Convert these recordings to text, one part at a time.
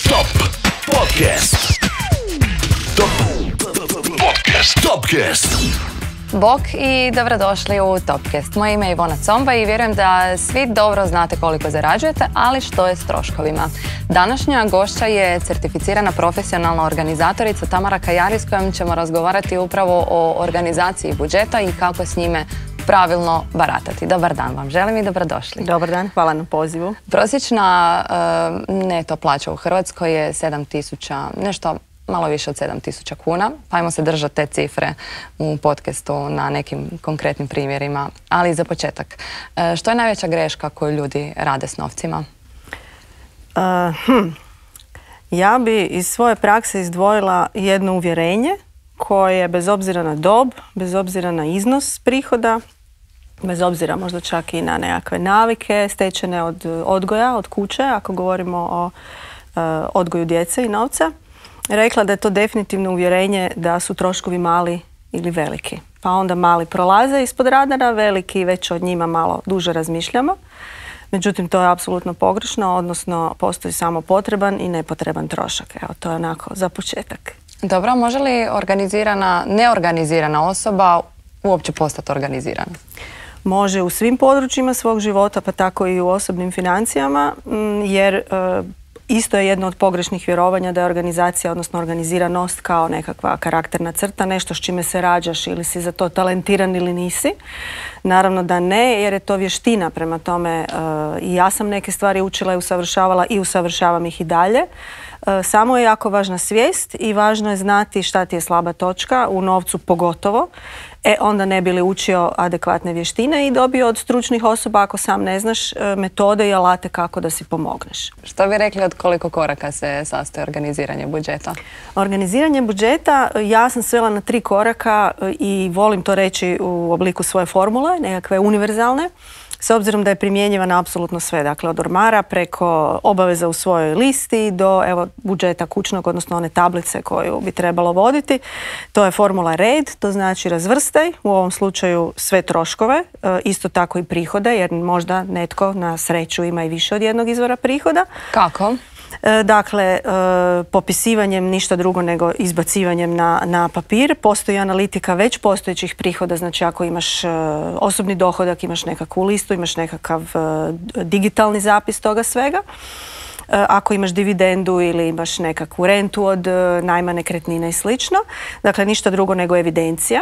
Top Podcast. Topcast. Bok i dobrodošli u Topcast. Moje ime je Ivona Comba i vjerujem da svi dobro znate koliko zarađujete, ali što je s troškovima. Današnja gošća je certificirana profesionalna organizatorica Tamara Kajari, s kojom ćemo razgovarati upravo o organizaciji budžeta i kako s njime pravilno baratati. Dobar dan vam želim i dobrodošli. Dobar dan, hvala na pozivu. Prosječna neto plaća u Hrvatskoj je 7.000, nešto malo više od 7.000 kuna. Pa ajmo se držati te cifre u podcastu na nekim konkretnim primjerima. Ali za početak, što je najveća greška koju ljudi rade s novcima? Ja bi iz svoje prakse izdvojila jedno uvjerenje koje bez obzira na dob, bez obzira na iznos prihoda, bez obzira možda čak i na nekakve navike stečene od odgoja, od kuće, ako govorimo o odgoju djece i novca, rekla da je to definitivno uvjerenje da su troškovi mali ili veliki. Pa onda mali prolaze ispod radara, veliki već od njima malo duže razmišljamo. Međutim, to je apsolutno pogrešno, odnosno postoji samo potreban i nepotreban trošak. Evo, to je onako za početak. Dobro, može li neorganizirana osoba uopće postati organizirana? Može u svim područjima svog života, pa tako i u osobnim financijama, jer isto je jedno od pogrešnih vjerovanja da je organizacija, odnosno organiziranost kao nekakva karakterna crta, nešto s čime se rađaš ili si za to talentiran ili nisi. Naravno da ne, jer je to vještina, prema tome i ja sam neke stvari učila i usavršavala i usavršavam ih i dalje. Samo je jako važna svijest i važno je znati šta ti je slaba točka, u novcu pogotovo. Onda ne bi li učio adekvatne vještine i dobio od stručnih osoba, ako sam ne znaš, metode i alate kako da si pomogneš. Što bi rekli od koliko koraka se sastoji organiziranje budžeta? Organiziranje budžeta ja sam svela na 3 koraka i volim to reći u obliku svoje formule, nekakve univerzalne, s obzirom da je primjenjiva na apsolutno sve, dakle od ormara preko obaveza u svojoj listi do budžeta kućnog, odnosno one tablice koju bi trebalo voditi. To je formula RED, to znači razvrstaj, u ovom slučaju sve troškove, isto tako i prihode, jer možda netko na sreću ima i više od jednog izvora prihoda. Kako? Dakle, popisivanjem ništa drugo nego izbacivanjem na papir. Postoji analitika već postojećih prihoda, znači ako imaš osobni dohodak, imaš nekakvu listu, imaš nekakav digitalni zapis toga svega. Ako imaš dividendu ili imaš nekakvu rentu od najma nekretnina i slično. Dakle, ništa drugo nego evidencija.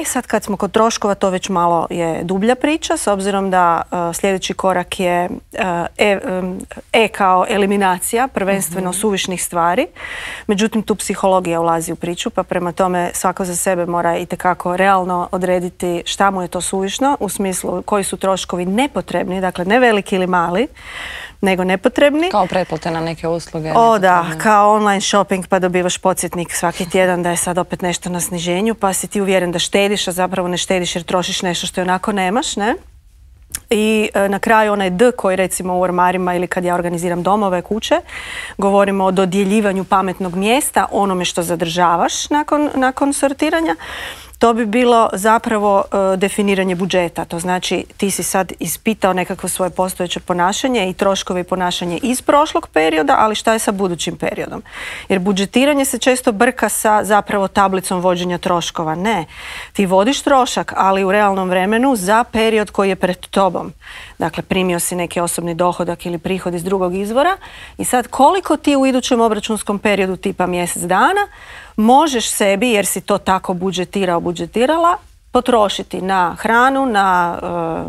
Sad kad smo kod troškova, to već malo je dublja priča, s obzirom da sljedeći korak je kao eliminacija, prvenstveno suvišnih stvari. Međutim, tu psihologija ulazi u priču, pa prema tome svako za sebe mora itekako realno odrediti šta mu je to suvišno, u smislu koji su troškovi nepotrebni, dakle ne veliki ili mali, nego nepotrebni. Kao pretplate na neke usluge. Da, kao online shopping, pa dobivaš podsjetnik svaki tjedan da je sad opet nešto na sniženju, pa si ti uvjeren da štediš, a zapravo ne štediš jer trošiš nešto što onako nemaš, ne? I na kraju onaj D koji recimo u ormarima ili kad ja organiziram domove, kuće, govorimo o dodjeljivanju pametnog mjesta, onome što zadržavaš nakon sortiranja. To bi bilo zapravo definiranje budžeta. To znači ti si sad ispitao nekakvo svoje postojeće ponašanje i troškove i ponašanje iz prošlog perioda, ali šta je sa budućim periodom? Jer budžetiranje se često brka sa zapravo tablicom vođenja troškova. Ne, ti vodiš trošak, ali u realnom vremenu za period koji je pred tobom. Dakle, primio si neki osobni dohodak ili prihod iz drugog izvora i sad koliko ti u idućem obračunskom periodu tipa mjesec dana možeš sebi, jer si to tako budžetirala, potrošiti na hranu, na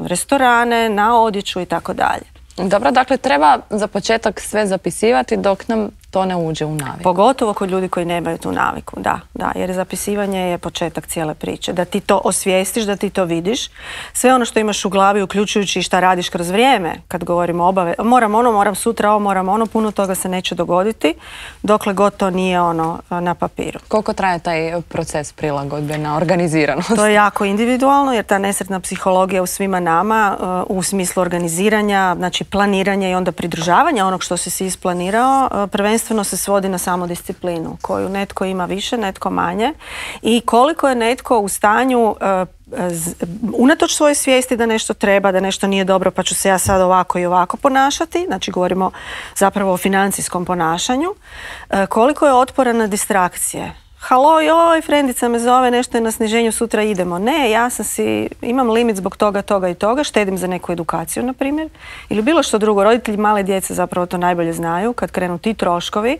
restorane, na odjeću i tako dalje. Dobro, dakle treba za početak sve zapisivati dok nam to ne uđe u naviku. Pogotovo kod ljudi koji nemaju tu naviku, da, jer zapisivanje je početak cijele priče. Da ti to osvijestiš, da ti to vidiš. Sve ono što imaš u glavi, uključujući šta radiš kroz vrijeme, kad govorimo moram sutra moram ono, puno toga se neće dogoditi, dokle god to nije na papiru. Koliko traje taj proces prilagodbe na organiziranost? To je jako individualno, jer ta nesretna psihologija u svima nama, u smislu organiziranja, znači planiranja i onda pridržavanja onog što si isplanirao, prvenstveno prvenstveno se svodi na samodisciplinu koju netko ima više, netko manje i koliko je netko u stanju unatoč svoje svijesti da nešto treba, da nešto nije dobro pa ću se ja sad ovako i ovako ponašati, znači govorimo zapravo o financijskom ponašanju, koliko je otporan na distrakcije. Halo, joj, frendica me zove, nešto je na sniženju, sutra idemo. Ne, ja imam limit zbog toga, toga i toga, štedim za neku edukaciju, na primjer, ili bilo što drugo. Roditelji male djece zapravo to najbolje znaju, kad krenu ti troškovi,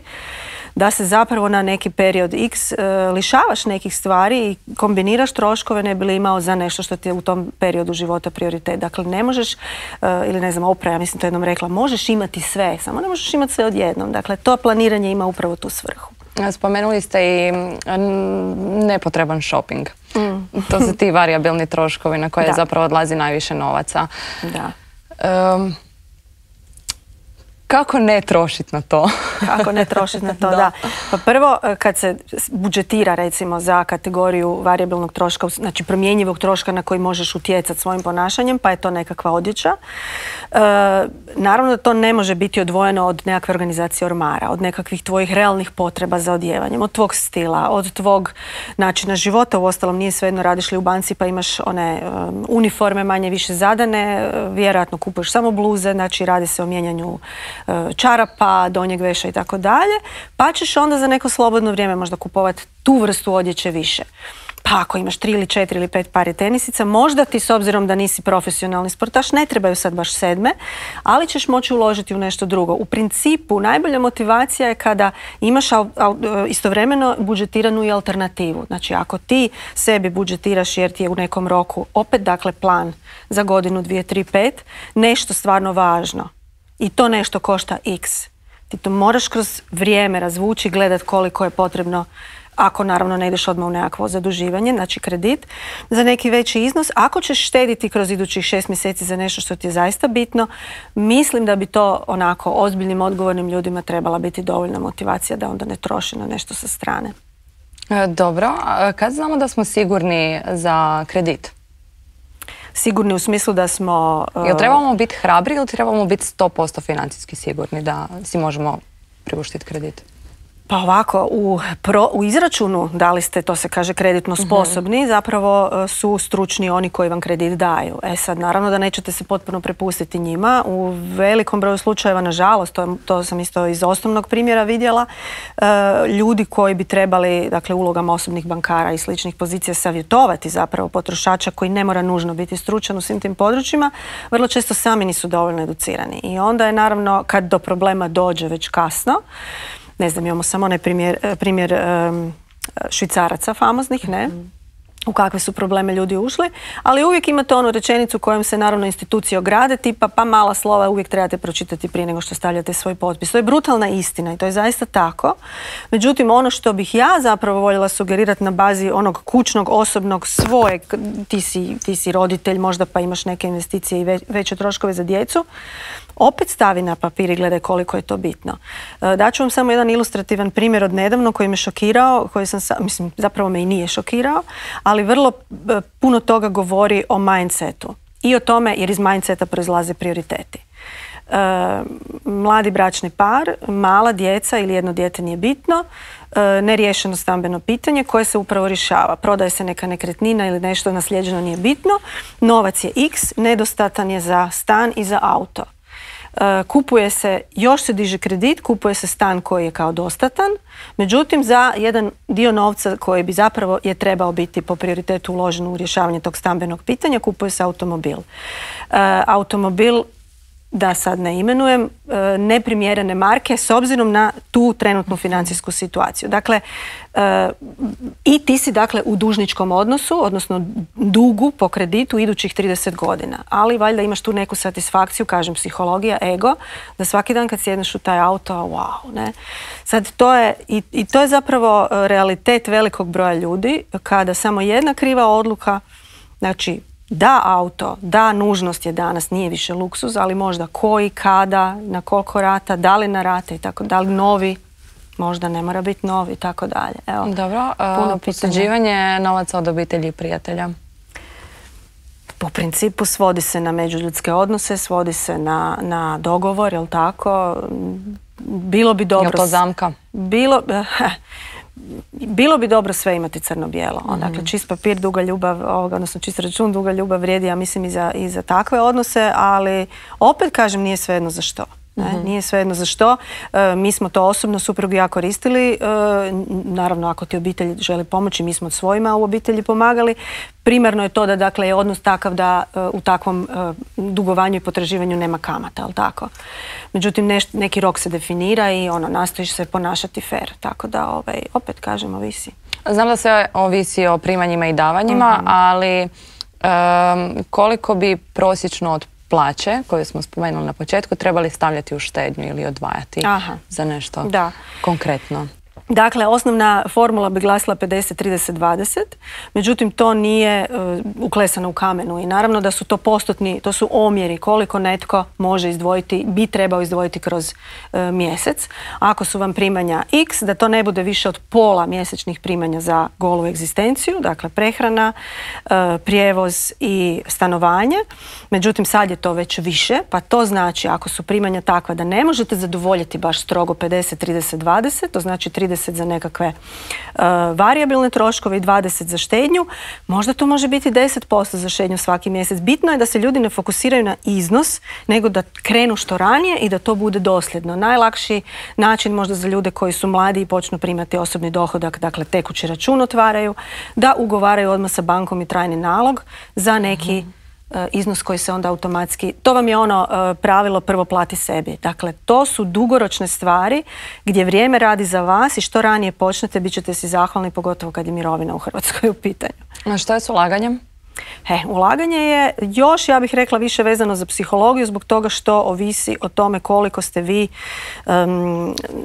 da se zapravo na neki period X lišavaš nekih stvari i kombiniraš troškove ne bi li imao za nešto što ti je u tom periodu života prioritet. Dakle, ne možeš, ili ne znam, Oprah, ja mislim to jednom rekla, možeš imati sve, samo ne možeš imati sve odjednom. Dakle, to planiranje ima upravo tu svrhu. Spomenuli ste i nepotreban shopping. To su ti varijabilni troškovi na koje zapravo odlazi najviše novaca. Da. Kako ne trošiti na to? Kako ne trošiti na to, da. Pa prvo, kad se budžetira recimo za kategoriju varijabilnog troška, znači promjenjivog troška na koji možeš utjecati svojim ponašanjem, pa je to nekakva odjeća. Naravno da to ne može biti odvojeno od nekakve organizacije ormara, od nekakvih tvojih realnih potreba za odjevanjem, od tvog stila, od tvog načina života. Uostalom nije svejedno radiš li u banci pa imaš one uniforme manje više zadane, vjerojatno kupuješ samo bluze, znači radi se o mijenjanju čarapa, donjeg veša i tako dalje, pa ćeš onda za neko slobodno vrijeme možda kupovati tu vrstu odjeće više. Pa ako imaš 3 ili 4 ili 5 pari tenisica, možda ti s obzirom da nisi profesionalni sportaš ne trebaju sad baš 7, ali ćeš moći uložiti u nešto drugo. U principu najbolja motivacija je kada imaš istovremeno budžetiranu i alternativu. Znači ako ti sebi budžetiraš jer ti je u nekom roku opet dakle plan za godinu, 2, 3, 5, nešto stvarno važno i to nešto košta X. Ti to moraš kroz vrijeme razvući, gledat koliko je potrebno, ako naravno ne ideš odmah u nekakvo zaduživanje, znači kredit, za neki veći iznos. Ako ćeš štediti kroz idućih 6 mjeseci za nešto što ti je zaista bitno, mislim da bi to onako ozbiljnim, odgovornim ljudima trebala biti dovoljna motivacija da onda ne troši na nešto sa strane. Dobro, kad znamo da smo sigurni za kredit? Sigurni u smislu da smo... Jel trebamo biti hrabri ili trebamo biti 100% financijski sigurni da si možemo priuštiti kredit? Pa ovako, u izračunu, da li ste, to se kaže, kreditno sposobni, zapravo su stručni oni koji vam kredit daju. E sad, naravno da nećete se potpuno prepustiti njima. U velikom broju slučajeva, nažalost, to sam isto iz osnovnog primjera vidjela, ljudi koji bi trebali, dakle, ulogama osobnih bankara i sličnih pozicija savjetovati zapravo potrošača koji ne mora nužno biti stručan u svim tim područjima, vrlo često sami nisu dovoljno educirani. I onda je, naravno, kad do problema dođe već kasno, ne znam, imamo samo onaj primjer Švicaraca famoznih, ne? U kakve su probleme ljudi ušli, ali uvijek imate onu rečenicu kojom se naravno institucije ograde, tipa pa mala slova uvijek trebate pročitati prije nego što stavljate svoj potpis. To je brutalna istina i to je zaista tako. Međutim, ono što bih ja zapravo voljela sugerirati na bazi onog kućnog, osobnog, svojeg, ti si roditelj, možda pa imaš neke investicije i veće troškove za djecu, opet stavi na papir i gledaj koliko je to bitno. Daću vam samo jedan ilustrativan primjer od nedavno koji me šokirao, koji mislim, zapravo me i nije šokirao, ali vrlo puno toga govori o mindsetu i o tome jer iz mindseta proizlaze prioriteti. Mladi bračni par, mala djeca ili jedno dijete nije bitno, neriješeno stambeno pitanje koje se upravo rješava. Prodaje se neka nekretnina ili nešto naslijeđeno nije bitno, novac je X, nedostatan je za stan i za auto. Kupuje se, još se diže kredit, kupuje se stan koji je kao dostatan, međutim za jedan dio novca koji bi zapravo je trebao biti po prioritetu uložen u rješavanje tog stambenog pitanja, kupuje se automobil. Automobil, da sad ne imenujem, neprimjerene marke s obzirom na tu trenutnu financijsku situaciju. Dakle, i ti si dakle u dužničkom odnosu, odnosno dugu po kreditu idućih 30 godina. Ali valjda imaš tu neku satisfakciju, kažem psihologija, ego, da svaki dan kad sjedneš u taj auto, wow, ne? Sad to je, i to je zapravo realitet velikog broja ljudi, kada samo jedna kriva odluka, znači da auto, da nužnost je danas, nije više luksuz, ali možda koji, kada, na koliko rata, da li na rate i tako, da li novi, možda ne mora biti novi i tako dalje. Evo, dobro, posuđivanje novaca od obitelji i prijatelja. Po principu svodi se na međuljudske odnose, svodi se na dogovor, jel tako? Bilo bi dobro... Je to zamka? Bilo bi dobro sve imati crno-bijelo. Dakle, čist papir, duga ljubav, odnosno čist račun, duga ljubav vrijedi, ja mislim, i za takve odnose, ali opet kažem, nije svejedno za što. Nije svejedno za što. Mi smo to osobno, suprug i ja, koristili. Naravno, ako ti obitelj želi pomoći, mi smo od svojima u obitelji pomagali. Primarno je to da, dakle, je odnos takav da u takvom dugovanju i potraživanju nema kamata, ali tako. Međutim, neki rok se definira i nastojiš se ponašati fair. Tako da, opet kažem, ovisi. Znam da se ovisi o primanjima i davanjima, ali koliko bi prosječno od plaće, koju smo spomenuli na početku, trebali stavljati u štednju ili odvajati za nešto konkretno? Dakle, osnovna formula bi glasila 50-30-20, međutim to nije uklesano u kamenu i naravno da su to postotni, to su omjeri koliko netko može izdvojiti, bi trebao izdvojiti kroz mjesec. Ako su vam primanja X, da to ne bude više od pola mjesečnih primanja za golu egzistenciju, dakle prehrana, prijevoz i stanovanje. Međutim, sad je to već više, pa to znači ako su primanja takva da ne možete zadovoljiti baš strogo 50-30-20, to znači 30 za nekakve varijabilne troškove i 20 za štednju, možda to može biti 10% za štednju svaki mjesec. Bitno je da se ljudi ne fokusiraju na iznos, nego da krenu što ranije i da to bude dosljedno. Najlakši način možda za ljude koji su mladi i počnu primati osobni dohodak, dakle tekući račun otvaraju, da ugovaraju odmah sa bankom i trajni nalog za neki iznos koji se onda automatski, to vam je pravilo prvo plati sebi. Dakle, to su dugoročne stvari gdje vrijeme radi za vas i što ranije počnete, bit ćete si zahvalni, pogotovo kad je mirovina u Hrvatskoj u pitanju. A što je s ulaganjem? Ulaganje je još, ja bih rekla, više vezano za psihologiju zbog toga što ovisi o tome koliko ste vi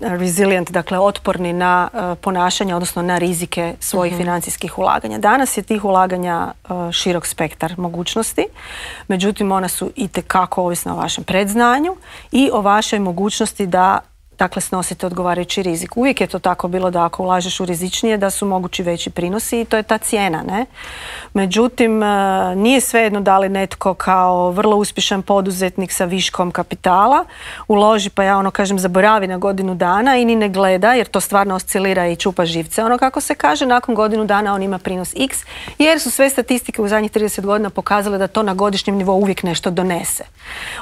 resilient, dakle otporni na ponašanje, odnosno na rizike svojih financijskih ulaganja. Danas je tih ulaganja širok spektar mogućnosti, međutim ona su itekako ovisna o vašem predznanju i o vašoj mogućnosti da dakle snosite odgovarajući rizik. Uvijek je to tako bilo da ako ulažeš u rizičnije da su mogući veći prinosi i to je ta cijena, ne? Međutim, nije svejedno da li netko kao vrlo uspješan poduzetnik sa viškom kapitala uloži, pa ja kažem zaboravi na godinu dana i ni ne gleda jer to stvarno oscilira i čupa živce. Kako se kaže, nakon godinu dana on ima prinos X jer su sve statistike u zadnjih 30 godina pokazale da to na godišnjem nivou uvijek nešto donese.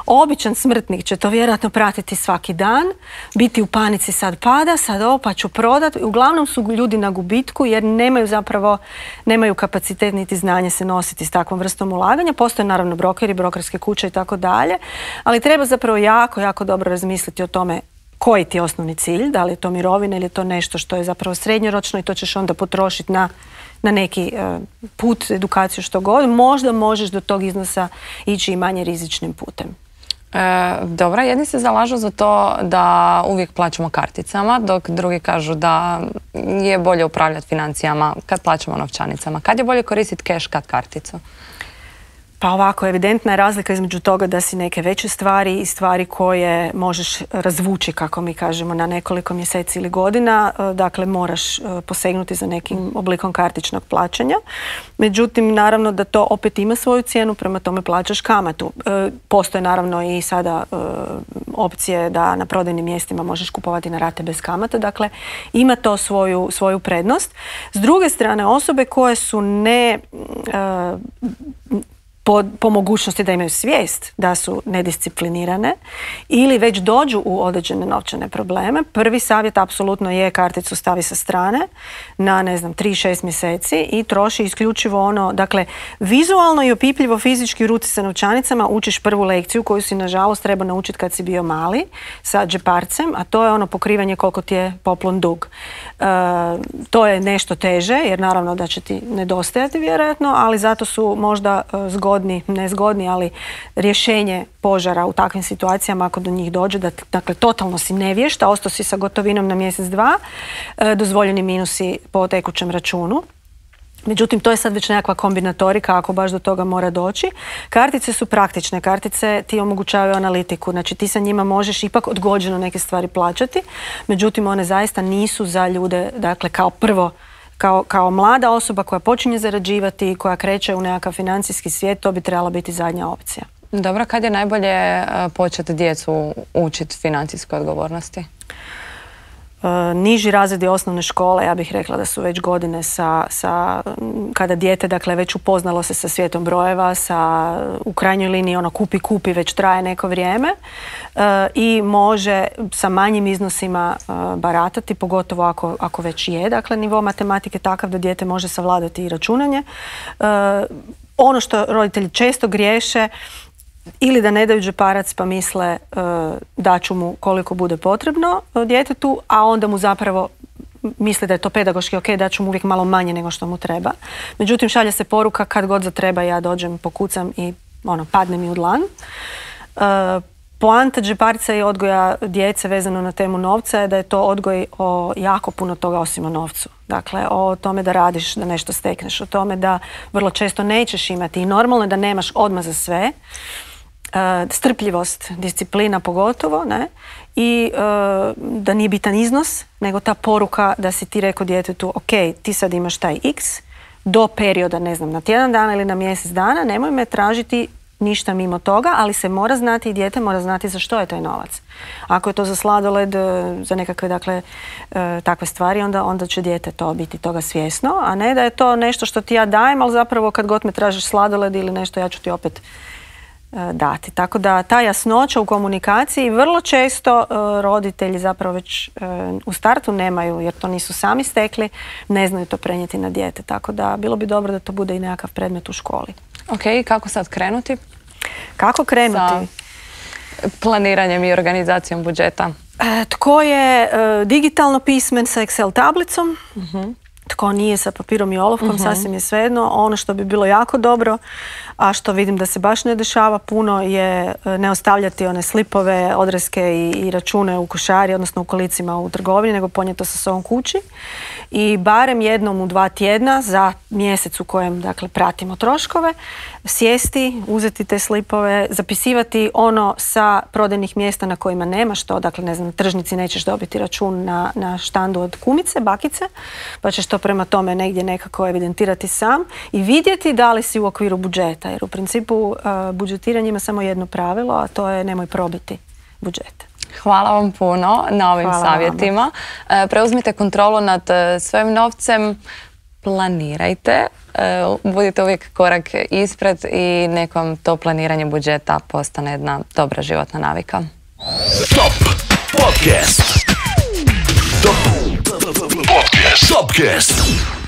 Običan smrtnik će to vjerojatno pratiti svaki dan, biti u panici, sad pada, sad ovo pa ću prodat. Uglavnom su ljudi na gubitku jer nemaju kapacitet niti znanje se nositi s takvom vrstom ulaganja. Postoje naravno brokeri, brokerske kuće i tako dalje, ali treba zapravo jako, jako dobro razmisliti o tome koji ti je osnovni cilj, da li je to mirovina ili je to nešto što je zapravo srednjoročno i to ćeš onda potrošiti na neki put, edukaciju, što god. Možda možeš do tog iznosa ići i manje rizičnim putem. Dobro, jedni se zalažu za to da uvijek plaćamo karticama, dok drugi kažu da je bolje upravljati financijama kad plaćamo novčanicama. Kad je bolje koristiti keš, kad karticu? Pa ovako, evidentna je razlika između toga da si neke veće stvari i stvari koje možeš razvući, kako mi kažemo, na nekoliko mjeseci ili godina. Dakle, moraš posegnuti za nekim oblikom kartičnog plaćanja. Međutim, naravno da to opet ima svoju cijenu, prema tome plaćaš kamatu. Postoje naravno i sada opcije da na prodajnim mjestima možeš kupovati na rate bez kamata. Dakle, ima to svoju prednost. S druge strane, osobe koje su po mogućnosti da imaju svijest da su nedisciplinirane ili već dođu u određene novčane probleme, prvi savjet apsolutno je karticu stavi sa strane na 3-6 mjeseci i troši isključivo dakle vizualno i opipljivo fizički u ruci sa novčanicama učiš prvu lekciju koju si nažalost treba naučiti kad si bio mali sa džeparcem, a to je pokrivanje koliko ti je poklon dug. To je nešto teže jer naravno da će ti nedostajati vjerojatno, ali zato su možda nezgodni, ali rješenje požara u takvim situacijama ako do njih dođe, dakle totalno si nevješt, a ostao si sa gotovinom na mjesec, dva, dozvoljeni minusi po tekućem računu. Međutim, to je sad već nekakva kombinatorika ako baš do toga mora doći. Kartice su praktične, kartice ti omogućavaju analitiku, znači ti sa njima možeš ipak odgođeno neke stvari plaćati, međutim one zaista nisu za ljude, dakle kao prvo kao mlada osoba koja počinje zarađivati i koja kreće u nekakav financijski svijet, to bi trebala biti zadnja opcija. Dobro, kad je najbolje početi djecu učiti financijskoj odgovornosti? Niži razredi osnovne škole, ja bih rekla da su već godine kada dijete dakle već upoznalo se sa svijetom brojeva, u krajnjoj liniji ono kupi već traje neko vrijeme i može sa manjim iznosima baratati, pogotovo ako već je dakle nivo matematike takav da dijete može savladati i računanje. Ono što roditelji često griješe ili da ne daju džeparac pa misle da ću mu koliko bude potrebno djetetu, a onda mu zapravo misli da je to pedagoški ok, da ću mu uvijek malo manje nego što mu treba. Međutim, šalje se poruka kad god zatreba ja dođem, pokucam i padne mi u dlan. Poanta džeparca i odgoja djece vezano na temu novca je da je to odgoj o jako puno toga osim o novcu. Dakle, o tome da radiš, da nešto stekneš, o tome da vrlo često nećeš imati i normalno je da nemaš odmah za sve. Strpljivost, disciplina pogotovo, ne? I da nije bitan iznos, nego ta poruka da si ti rekao djetetu ok, ti sad imaš taj x, do perioda, ne znam, na tjedan dana ili na mjesec dana, nemoj me tražiti ništa mimo toga, ali se mora znati i dijete mora znati za što je taj novac. Ako je to za sladoled, za nekakve dakle, takve stvari, onda će dijete to biti toga svjesno, a ne da je to nešto što ti ja dajem, ali zapravo kad god me tražiš sladoled ili nešto, ja ću ti opet dati. Tako da ta jasnoća u komunikaciji vrlo često roditelji zapravo već u startu nemaju, jer to nisu sami stekli, ne znaju to prenijeti na dijete. Tako da bilo bi dobro da to bude i nekakav predmet u školi. Ok, kako sad krenuti? Kako krenuti? Sa planiranjem i organizacijom budžeta. Tko je digitalno pismen sa Excel tablicom, tko nije sa papirom i olovkom, sasvim je svejedno. Ono što bi bilo jako dobro, a što vidim da se baš ne dešava puno, je ne ostavljati one slipove, odreske i račune u košari, odnosno u kolicima u trgovini, nego ponijeti to sa sobom kući. I barem jednom u 2 tjedna za mjesec u kojem dakle, pratimo troškove, sjesti, uzeti te slipove, zapisivati ono sa prodajnih mjesta na kojima nemaš to, dakle ne znam, na tržnici nećeš dobiti račun na štandu od kumice, bakice, pa ćeš to prema tome negdje nekako evidentirati sam i vidjeti da li si u okviru budžeta, jer u principu budžetiranje ima samo jedno pravilo, a to je nemoj probiti budžet. Hvala vam puno na ovim savjetima. Preuzmite kontrolu nad svojim novcem, planirajte, budite uvijek korak ispred i nekom to planiranje budžeta postane jedna dobra životna navika. Top Podcast. Topcast.